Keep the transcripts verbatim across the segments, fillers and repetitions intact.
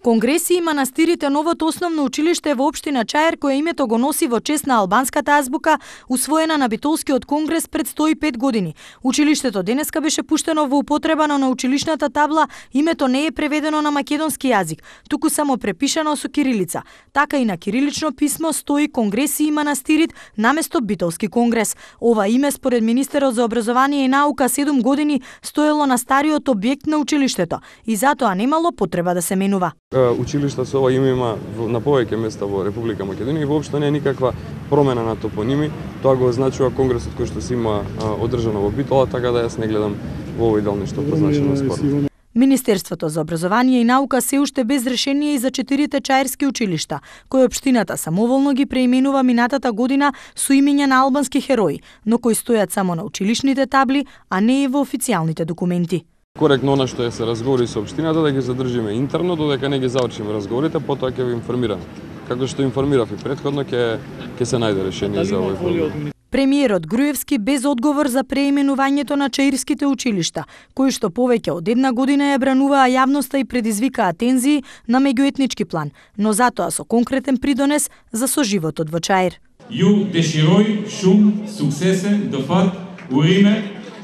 Конгреси и манастирите новото основно училиште во општина Чаир, кое името го носи во чест на албанската азбука, усвоена на Битолскиот конгрес пред сто и пет години. Училиштето денеска беше пуштено во употреба, но на училишната табла името не е преведено на македонски јазик, туку само препишано со кирилица. Така и на кирилично писмо стои Конгреси и манастирит наместо Битолски конгрес. Ова име според министерот за образование и наука седум години стоело на стариот објект на училиштето и затоа немало потреба да се менува. Училишта со ова име има на повеќе места во Република Македонија и воопшто не е никаква промена на топоними. Тоа го означува конгресот кој што се има одржано во Битола, така да јас не гледам во овој дел ништо позначено спорно. Министерството за образование и наука се уште без решение и за четирите чаирски училишта, кои општината самоволно ги преименува минатата година со имиња на албански херои, но кои стојат само на училишните табли, а не и во официјалните документи. Коректно она што се разговори со општината да ги задржиме интерно додека не ги завршиме разговорите, потоа ќе ви информираме. Како што информирав и претходно, ќе ќе се најде решение за овој проблем. Премиерот Груевски без одговор за преименувањето на чаирските училишта, кои што повеќе од една година ја брануваа јавноста и предизвикаа тензии на меѓуетнички план, но затоа со конкретен придонес за соживотот во Чаир. Ju dëshiroj shumë suksese, do fat, urime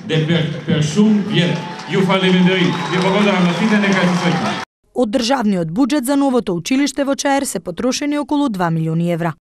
dhe per, per shumë vjet. Ju faleminderoj. Ju благодарам на сите нека се среќни. Од државниот буџет за новото училиште во Чаир се потрошени околу два милиони евра.